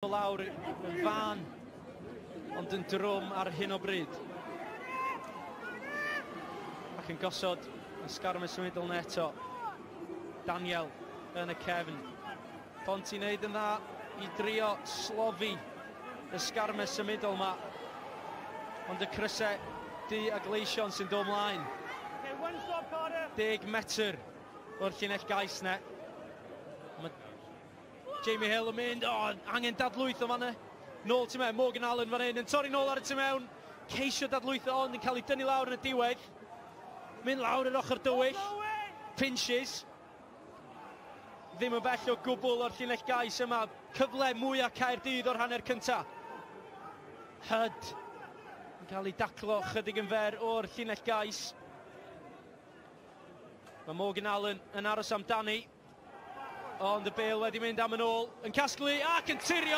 Lawr yn fan, ond yn drwm ar hyn o bryd. Ac yn gosod y sgarmes symudol 'na eto. Daniel yn y cefn. Ponty wneud yn dda i drio slofi y sgarmes symudol yma. Ond y crysau du a gleision sy'n dod mlaen. 10 metr o'r llinell gais 'na. Mae Jamie Hill yn mynd, o, oh, angen dadlwytho fanna. Nôl tu mewn, Morgan Allen fan hyn, yn torri nôl ar y tu mewn. Ceisio dadlwytho ond yn cael ei dynnu lawr yn y diwedd. Mynd lawr yr ochr dywyll. Pinches. Ddim yn bell o gwbl o'r llinell gais yma. Cyfle mwyaf Caerdydd o'r hanner cynta. Hud yn cael ei daclo chydig yn fer o'r llinell gais. Mae Morgan Allen yn aros amdani. Ond y bêl wedi mynd am yn ôl, yn casglu ac yn tirio.